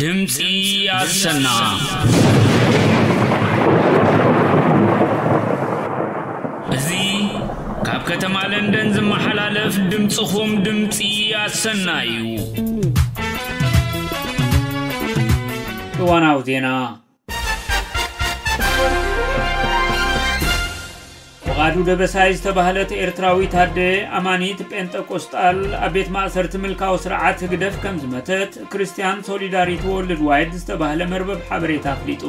ድምፂ ኣሰና። እዚ ካብ ከተማ ለንደን ዝመሓላለፍ ድምፅኹም ድምፂ ኣሰና እዩ። እዋናዊ ዜና። ፍቓዱ ደበሳይ ዝተባህለት ኤርትራዊት ኣደ ኣማኒት ጴንጠቆስጣል ኣብ ቤት ማእሰርቲ ምልካዊ ስርዓት ህግደፍ ከም ዝመተት ክርስትያን ሶሊዳሪቲ ወርልድ ዋይድ ዝተባህለ መርበብ ሓበሬታ ኣፍሊጡ።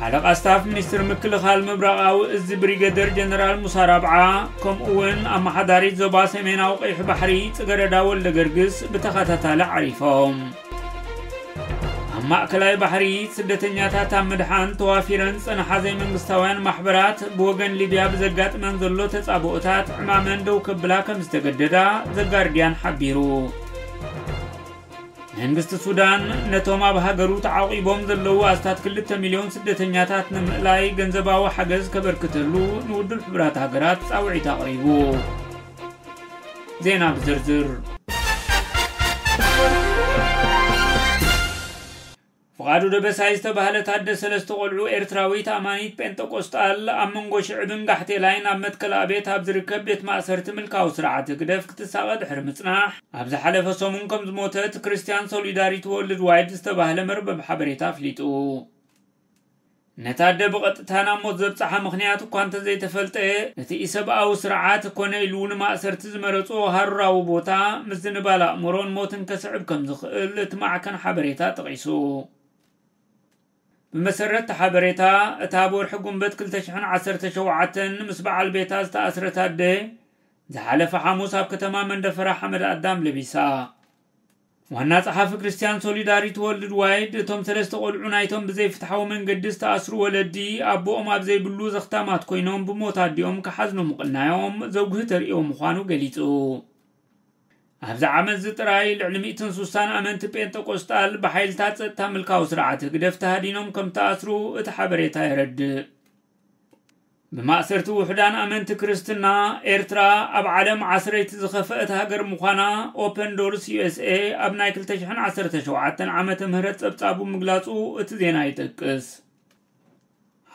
ሓለቓ ስታፍ ሚኒስትር ምክልኻል ምብራቓዊ እዚ ብሪገደር ጀነራል ሙሳ ራብዓ፣ ከምኡ እውን ኣመሓዳሪት ዞባ ሰሜናዊ ቀይሕ ባሕሪ ጽገረዳ ወልደ ገርግስ ብተኸታታሊ ዓሪፎም። ኣብ ማእከላይ ባሕሪ ስደተኛታት ኣብ ምድሓን ተዋፊረን ዝጸንሓ ዘይመንግስታውያን ማሕበራት ብወገን ሊብያ ብዘጋጥመን ዘሎ ተጻብኦታት ዕማመን ደው ከብላ ከም ዝተገደዳ ዘጋርድያን ሓቢሩ። መንግስቲ ሱዳን ነቶም ኣብ ሃገሩ ተዓቂቦም ዘለዉ ኣስታት ክልተ ሚልዮን ስደተኛታት ንምእላይ ገንዘባዊ ሓገዝ ከበርክተሉ ንውድብ ሕቡራት ሃገራት ጻውዒት ኣቕሪቡ። ዜና ብዝርዝር። ፍቓዱ ደበሳይ ዝተባህለት ኣደ ሰለስተ ቆልዑ ኤርትራዊት ኣማኒት ጴንጠቆስጣል ኣብ መንጎ ሽዕብን ጋሕቴላይን ኣብ መትከል ኣቤት ኣብ ዝርከብ ቤት ማእሰርቲ ምልካዊ ስርዓት ህግደፍ ክትሳቐ ድሕሪ ምጽናሕ፣ ኣብ ዝሓለፈ ሰሙን ከም ዝሞተት ክርስትያን ሶሊዳሪቲ ወርልድ ዋይድ ዝተባህለ መርበብ ሓበሬታ ኣፍሊጡ። ነታ ኣደ ብቐጥታ ናብ ሞት ዘብጽሓ ምኽንያት እኳ እንተዘይተፈልጠ፣ እቲ ኢሰብኣዊ ስርዓት ኮነ ኢሉ ንማእሰርቲ ዝመረጾ ሃሩራዊ ቦታ፣ ምዝንባል ኣእምሮን ሞትን ከስዕብ ከም ዝኽእል እቲ ማዕከን ሓበሬታ ጠቒሱ። ብመሰረት እቲ ሓበሬታ፣ እታ ኣብ ወርሒ ጉንበት ክልተ ሽሕን ዓሰርተ ሸውዓተን ምስ በዓል ቤታ ዝተኣስረት ኣደ፣ ዝሓለፈ ሓሙስ ኣብ ከተማ መንደፈራ ሓመድ ኣዳም ለቢሳ። ዋና ጸሓፊ ክርስትያን ሶሊዳሪቲ ወርልድ ዋይድ፣ እቶም ሰለስተ ቆልዑ ናይቶም ብዘይፍትሓዊ መንገዲ ዝተኣስሩ ወለዲ፣ ኣቦኦም ኣብ ዘይብሉ ዘኽታማት ኮይኖም ብሞት ኣዲኦም ክሓዝኑ ምቕናዮም ዘጉሂ ተርእዮ ምዃኑ ገሊጹ። ኣብዚ ዓመት እዚ ጥራይ ልዕሊ ሚእትን ስሳን ኣመንቲ ጴንጠቆስጣል ብሓይልታት ጸጥታ ምልካዊ ስርዓት ህግደፍ ተሃዲኖም ከም ተኣስሩ እቲ ሓበሬታ የረድእ። ብማእሰርቲ ውሑዳን ኣመንቲ ክርስትና፣ ኤርትራ ኣብ ዓለም ዓስረይቲ ዝኸፍአት ሃገር ምዃና ኦፐን ዶርስ ዩ ኤስ ኤ ኣብ ናይ ክልተ ሽሕን ዓሰርተ ሸውዓተን ዓመተ ምህረት ጸብጻቡ ምግላጹ እቲ ዜና ይጠቅስ።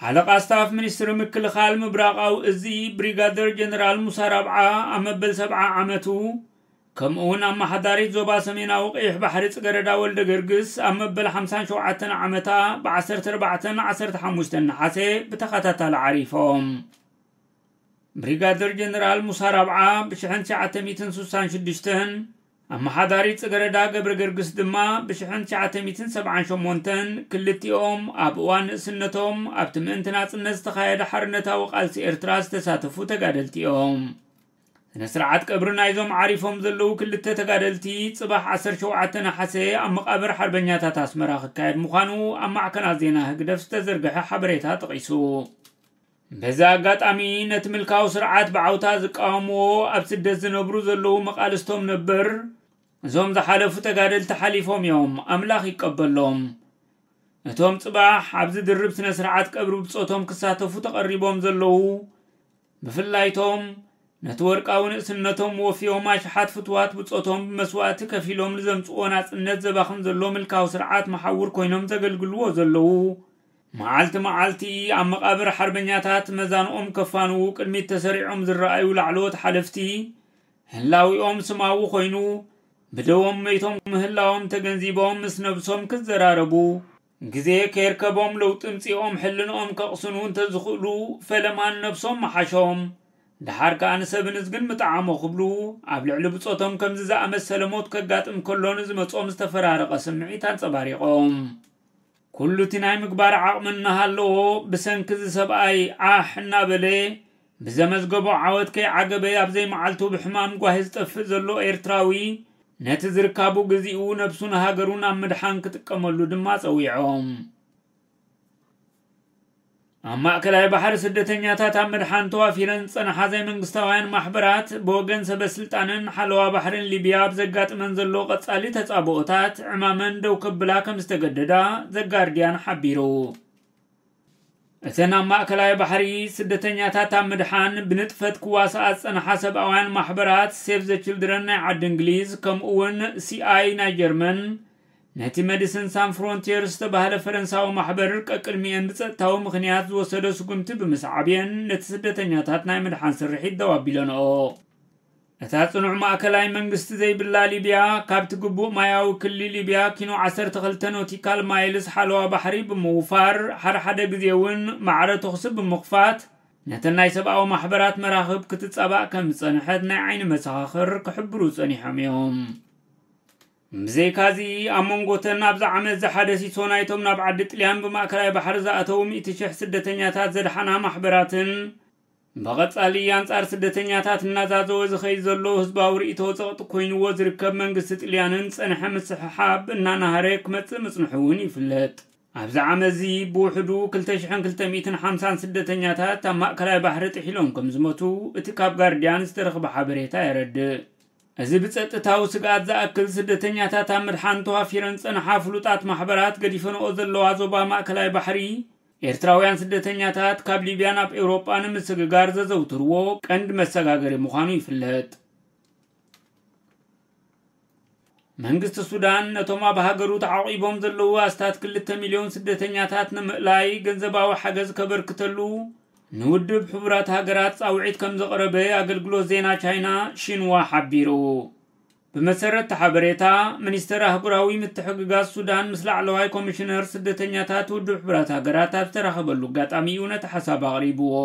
ሓለቓ ስታፍ ሚኒስትሪ ምክልኻል ምብራቓዊ እዚ ብሪጋደር ጀነራል ሙሳ ራብዓ ኣብ መበል ሰብዓ ዓመቱ፣ ከምኡ እውን ኣመሓዳሪት ዞባ ሰሜናዊ ቀይሕ ባሕሪ ጽገረዳ ወልደ ገርግስ ኣብ መበል ሓምሳን ሸውዓተን ዓመታ ብ ዓሰርተ ኣርባዕተን ዓሰርተ ሓሙሽተን ነሓሰ ብተኸታታሊ ዓሪፎም። ብሪጋደር ጀነራል ሙሳ ራብዓ ብ ሽሕን ትሽዓተ ሚእትን ስሳን ሽዱሽተን፣ ኣመሓዳሪት ጽገረዳ ገብረ ገርግስ ድማ ብ ሽሕን ትሽዓተ ሚእትን ሰብዓን ሸሞንተን፣ ክልቲኦም ኣብ እዋን ንእስነቶም ኣብቲ ምእንቲ ናጽነት ዝተኻየደ ሓርነታዊ ቃልሲ ኤርትራ ዝተሳተፉ ተጋደልቲ እዮም። ስነ ስርዓት ቀብሪ ናይዞም ዓሪፎም ዘለዉ ክልተ ተጋደልቲ ጽባሕ ዓሰርተ ሸውዓተ ነሓሰ ኣብ መቓብር ሓርበኛታት ኣስመራ ክካየድ ምዃኑ ኣብ ማዕከናት ዜና ህግደፍ ዝተዘርግሐ ሓበሬታ ጠቒሱ። በዚ ኣጋጣሚ ነቲ ምልካዊ ስርዓት ብዓውታ ዝቃወምዎ ኣብ ስደት ዝነብሩ ዘለዉ መቓልስቶም ነበር፣ እዞም ዝሓለፉ ተጋደልቲ ሓሊፎም እዮም፣ ኣምላኽ ይቀበሎም። እቶም ጽባሕ ኣብዚ ድርብ ስነ ስርዓት ቀብሪ ብጾቶም ክሳተፉ ተቐሪቦም ዘለዉ፣ ብፍላይቶም ነቲ ወርቃዊ ንእስነቶም ወፍዮም ኣሽሓት ፍትዋት ብጾቶም ብመስዋእቲ ከፊሎም ንዘምጽዎ ናጽነት ዘባኽን ዘሎ ምልካዊ ስርዓት መሓውር ኮይኖም ዘገልግልዎ ዘለዉ፣ መዓልቲ መዓልቲ ኣብ መቓብር ሓርበኛታት መዛንኦም ከፋንዉ ቅድሚት ተሰሪዖም ዝረኣዩ ላዕለዎት ሓለፍቲ፣ ህላዊኦም ስማዊ ኮይኑ፣ ብደዎም መይቶም ምህላዎም ተገንዚቦም ምስ ነብሶም ክዘራረቡ፣ ግዜ ከይርከቦም ለውጢ ምጺኦም ሕልንኦም ከቕስኑ እንተዝኽእሉ፣ ፈለማን ነብሶም ምሓሾም። ደሓር ከኣ ንሰብን እዝግን ምጠዓሞ ክብሉ፣ ኣብ ልዕሊ ብጾቶም ከምዚ ዝኣመሰለ ሞት ከጋጥም ከሎ ንዝመጾም ዝተፈራረቐ ስምዒት ኣንጸባሪቖም። ኩሉ እቲ ናይ ምግባር ዓቕሚ እናሃለዎ፣ ብሰንኪ እዚ ሰብኣይ ዓሕ እናበለ፣ ብዘመዝገቦ ዓወት ከይዓገበ ኣብ ዘይመዓልቱ ብሕማም ጓሂ ዝጠፍእ ዘሎ ኤርትራዊ፣ ነቲ ዝርካቡ ግዚኡ ነብሱን ሃገሩን ኣብ ምድሓን ክጥቀመሉ ድማ ጸዊዖም። ኣብ ማእከላይ ባሕሪ ስደተኛታት ኣብ ምድሓን ተዋፊረን ዝጸንሓ ዘይመንግስታውያን ማሕበራት፣ ብወገን ሰበ ስልጣንን ሓለዋ ባሕርን ሊብያ ኣብ ዘጋጥመን ዘሎ ቀጻሊ ተጻብኦታት ዕማመን ደው ከብላ ከም ዝተገደዳ ዘጋርድያን ሓቢሩ። እተን ኣብ ማእከላይ ባሕሪ ስደተኛታት ኣብ ምድሓን ብንጥፈት ክዋስኣ ዝጸንሓ ሰብኣውያን ማሕበራት ሴቭ ዘ ችልድረን ናይ ዓዲ እንግሊዝ፣ ከምኡ እውን ሲኣይ ናይ ጀርመን፣ ነቲ መዲስን ሳን ፍሮንቲየር ዝተባህለ ፈረንሳዊ ማሕበር ቀቅድሚኤን ብጸጥታዊ ምኽንያት ዝወሰዶ ስጉምቲ ብምስዓብ እየን ነቲ ስደተኛታት ናይ ምድሓን ስርሒት ደው ኣቢለንኦ። እታ ጽኑዕ ማእከላይ መንግስቲ ዘይብላ ሊብያ፣ ካብቲ ግቡእ ማያዊ ክሊ ሊብያ ኪኖ ዓሰርተ ክልተ ኖቲካል ማይልስ ሓለዋ ባሕሪ ብምውፋር፣ ሓደ ሓደ ግዜ እውን ማዕረ ተኹሲ ብምኽፋት፣ ነተን ናይ ሰብኣዊ ማሕበራት መራኽብ ክትጻባእ ከም ዝጸንሐት ናይ ዓይኒ መሰኻኽር ክሕብሩ ጸኒሖም እዮም። ብዘይካዚ፣ ኣብ መንጎተን ኣብዚ ዓመት ዝሓደ ሲሶ ናይቶም ናብ ዓዲ ጥልያን ብማእከላይ ባሕሪ ዝኣተዉ ሚእቲ ሽሕ ስደተኛታት ዘድሓና ማሕበራትን፣ ብቐጻሊ ኣንጻር ስደተኛታት እናዛዘወ ዝኸይድ ዘሎ ህዝባዊ ርእይቶ ጸቕጢ ኮይንዎ ዝርከብ መንግስቲ ጥልያንን ጸንሐ ምስሕሓብ እናናሃረ ክመጽእ ምጽንሑ እውን ይፍለጥ። ኣብዚ ዓመት እዚ ብውሕዱ ክልተ ሽሕን ክልተ ሚእትን ሓምሳን ስደተኛታት ኣብ ማእከላይ ባሕሪ ጥሒሎም ከም ዝሞቱ እቲ ካብ ጋርድያን ዝተረኽበ ሓበሬታ የረድእ። እዚ ብጸጥታዊ ስግኣት ዝኣክል ስደተኛታት ኣብ ምድሓን ተዋፊረን ዝጸንሓ ፍሉጣት ማሕበራት ገዲፈንኦ ዘለዋ ዞባ ማእከላይ ባሕሪ፣ ኤርትራውያን ስደተኛታት ካብ ሊብያ ናብ ኤውሮጳ ንምስግጋር ዘዘውትርዎ ቀንዲ መሰጋገሪ ምዃኑ ይፍለጥ። መንግስቲ ሱዳን ነቶም ኣብ ሃገሩ ተዓቂቦም ዘለዉ ኣስታት ክልተ ሚልዮን ስደተኛታት ንምእላይ ገንዘባዊ ሓገዝ ከበርክተሉ ንውድብ ሕቡራት ሃገራት ጻውዒት ከም ዘቕረበ ኣገልግሎት ዜና ቻይና ሺንዋ ሓቢሩ። ብመሰረት እቲ ሓበሬታ፣ ሚኒስተር ኣህጉራዊ ምትሕግጋዝ ሱዳን ምስ ላዕለዋይ ኮሚሽነር ስደተኛታት ውድብ ሕቡራት ሃገራት ኣብ ዝተራኸበሉ ኣጋጣሚ እዩ ነቲ ሓሳብ ኣቕሪብዎ።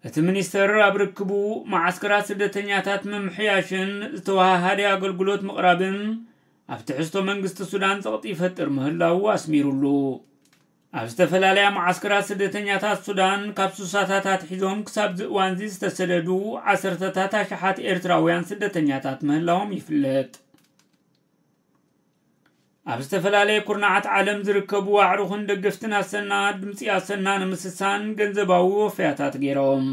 እቲ ሚኒስተር ኣብ ርክቡ፣ መዓስከራት ስደተኛታት ምምሕያሽን ዝተወሃሃደ ኣገልግሎት ምቕራብን ኣብ ትሕዝቶ መንግስቲ ሱዳን ጸቕጢ ይፈጥር ምህላዉ ኣስሚሩሉ። ኣብ ዝተፈላለያ መዓስከራት ስደተኛታት ሱዳን ካብ ሱሳታት ኣትሒዞም ክሳብ እዚ እዋንዚ ዝተሰደዱ ዓሰርተታት ኣሽሓት ኤርትራውያን ስደተኛታት ምህላዎም ይፍለጥ። ኣብ ዝተፈላለየ ኩርናዓት ዓለም ዝርከቡ ኣዕሩኽን ደገፍትን ኣሰና ድምጺ ኣሰና ንምስሳን ገንዘባዊ ወፈያታት ገይሮም።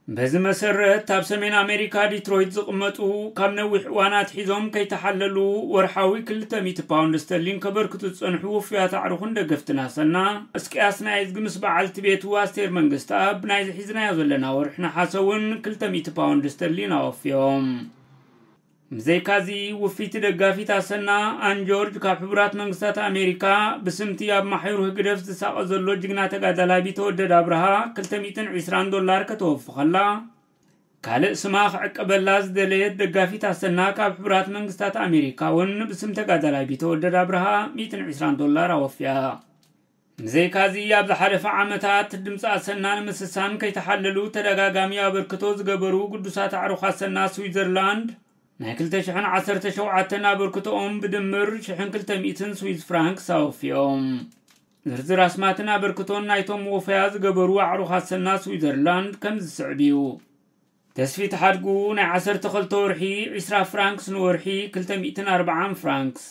በዚ መሰረት፣ ኣብ ሰሜን ኣሜሪካ ዲትሮይት ዝቕመጡ፣ ካብ ነዊሕ እዋን ኣትሒዞም ከይተሓለሉ ወርሓዊ ክልተ ሚእቲ ፓውንድ ስተርሊን ከበርክቱ ዝጸንሑ ውፉያት ኣዕሩኽን ደገፍትን ኣሰና፣ እስቅያስ ናይ እዝጊ ምስ በዓልቲ ቤቱ ኣስቴር መንግስተኣብ ናይዚ ሒዝናዮ ዘለና ወርሒ ነሓሰ እውን ክልተ ሚእቲ ፓውንድ ስተርሊን ኣወፍዮም። ብዘይካዚ፣ ውፍይቲ ደጋፊት ኣሰና ኣን ጆርጅ ካብ ሕቡራት መንግስታት ኣሜሪካ ብስምቲ ኣብ ማሕዩር ህግደፍ ዝሳቐ ዘሎ ጅግና ተጋዳላይ ቢተወደድ ኣብርሃ ክልተ ሚእትን ዕስራን ዶላር ከተወፊ ከላ፣ ካልእ ስማ ክዕቀበላ ዝደለየት ደጋፊት ኣሰና ካብ ሕቡራት መንግስታት ኣሜሪካ እውን ብስም ተጋዳላይ ቢተወደድ ኣብርሃ ሚእትን ዕስራን ዶላር ኣወፍያ። ብዘይካዚ፣ ኣብ ዝሓለፈ ዓመታት ድምፂ ኣሰና ንምስሳን ከይተሓለሉ ተደጋጋሚ ኣበርክቶ ዝገበሩ ግዱሳት ኣዕሩኽ ኣሰና ስዊዘርላንድ፣ ናይ ክልተ ሽሕን ዓሰርተ ሸውዓተን ኣበርክቶኦም ብድምር ሽሕን ክልተ ሚእትን ስዊዝ ፍራንክስ ኣወፊዮም። ዝርዝር ኣስማትን ኣበርክቶን ናይቶም ወፈያ ዝገበሩ ኣዕሩኽ ኣሰና ስዊዘርላንድ ከም ዝስዕብ እዩ። ተስፊት ሓድጉ፣ ናይ ዓሰርተ ክልተ ወርሒ ዕስራ ፍራንክስ፣ ንወርሒ ክልተ ሚእትን ኣርባዓን ፍራንክስ።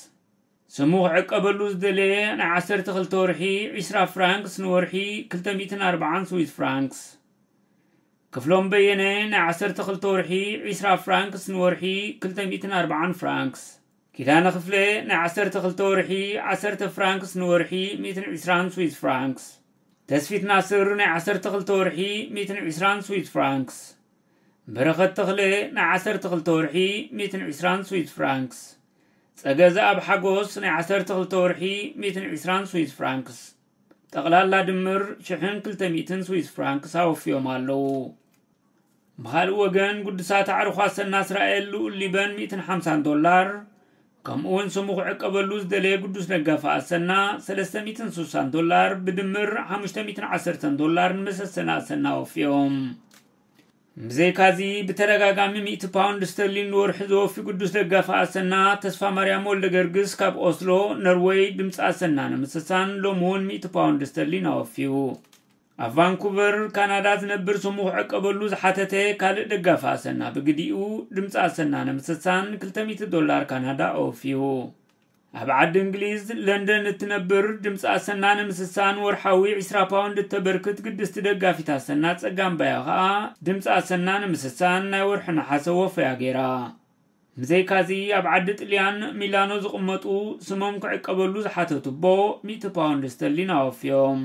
ስሙ ክዕቀበሉ ዝደለየ፣ ናይ ዓሰርተ ክልተ ወርሒ ዕስራ ፍራንክስ፣ ንወርሒ ክልተ ሚእትን ኣርባዓን ስዊዝ ፍራንክስ። ክፍሎም በየነ፣ ናይ ዓሰርተ ክልተ ወርሒ ዕስራ ፍራንክስ፣ ንወርሒ ክልተ ሚእትን ኣርባዓን ፍራንክስ። ኪዳነ ክፍለ፣ ናይ ዓሰርተ ክልተ ወርሒ ዓሰርተ ፍራንክስ፣ ንወርሒ ሚእትን ዕስራን ስዊዝ ፍራንክስ። ተስፊት ናስር፣ ናይ ዓሰርተ ክልተ ወርሒ ሚእትን ዕስራን ስዊዝ ፍራንክስ። በረኸት ተኽለ፣ ናይ ዓሰርተ ክልተ ወርሒ ሚእትን ዕስራን ስዊዝ ፍራንክስ። ጸገ ዘኣብ ሓጎስ፣ ናይ ዓሰርተ ክልተ ወርሒ ሚእትን ዕስራን ስዊዝ ፍራንክስ። ጠቕላላ ድምር ሽሕን ክልተ ሚእትን ስዊዝ ፍራንክስ ኣወፍዮም ኣለዉ። ብኻልእ ወገን፣ ግዱሳት ኣዕሩኽ ኣሰና እስራኤል ልኡል ሊበን ሚእትን ሓምሳን ዶላር፣ ከምኡ እውን ስሙ ክዕቀበሉ ዝደለየ ግዱስ ደጋፊ ኣሰና ሰለስተ ሚእትን ስሳን ዶላር፣ ብድምር ሓሙሽተ ሚእትን ዓሰርተን ዶላር ንመሰሰኒ ኣሰና ኣወፍዮም። ብዘይካዚ፣ ብተደጋጋሚ ሚእቲ ፓውንድ ስተርሊን ንወርሒ ዘወፊ ግዱስ ደጋፊ ኣሰና ተስፋ ማርያም ወልደ ገርግስ ካብ ኦስሎ፣ ነርወይ፣ ድምፂ ኣሰና ንምስሳን ሎሚ እውን ሚእቲ ፓውንድ ስተርሊን ኣወፍዩ። ኣብ ቫንኩቨር ካናዳ ዝነብር ስሙ ክዕቀበሉ ዝሓተተ ካልእ ደጋፊ ኣሰና ብግዲኡ፣ ድምፂ ኣሰና ንምስሳን ክልተ ሚእቲ ዶላር ካናዳ ኣወፍዩ። ኣብ ዓዲ እንግሊዝ ለንደን እትነብር ድምፂ ኣሰና ንምስሳን ወርሓዊ ዕስራ ፓውንድ እተበርክት ግድስቲ ደጋፊት ኣሰና ጸጋም ባያ ኸኣ፣ ድምፂ ኣሰና ንምስሳን ናይ ወርሒ ነሓሰ ወፈያ ገይራ። ብዘይካዚ፣ ኣብ ዓዲ ጥልያን ሚላኖ ዝቕመጡ ስሞም ክዕቀበሉ ዝሓተቱ ኣቦ ሚእቲ ፓውንድ ስተርሊን ኣወፍዮም።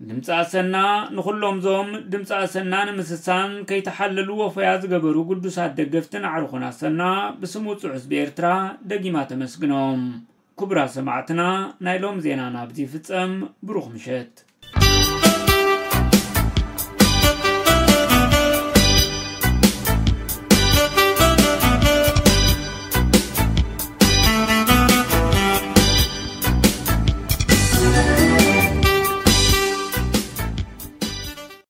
ድምፂ ኣሰና ንኹሎም ዞም ድምፂ ኣሰና ንምስሳን ከይተሓለሉ ወፈያ ዝገበሩ ግዱሳት ደገፍትን ኣዕሩኹን ኣሰና ብስም ውፁዕ ህዝቢ ኤርትራ ደጊማ ተመስግኖም። ክቡራት ሰማዕትና፣ ናይ ሎም ዜናና ኣብዚ ይፍጸም። ብሩኽ ምሸት።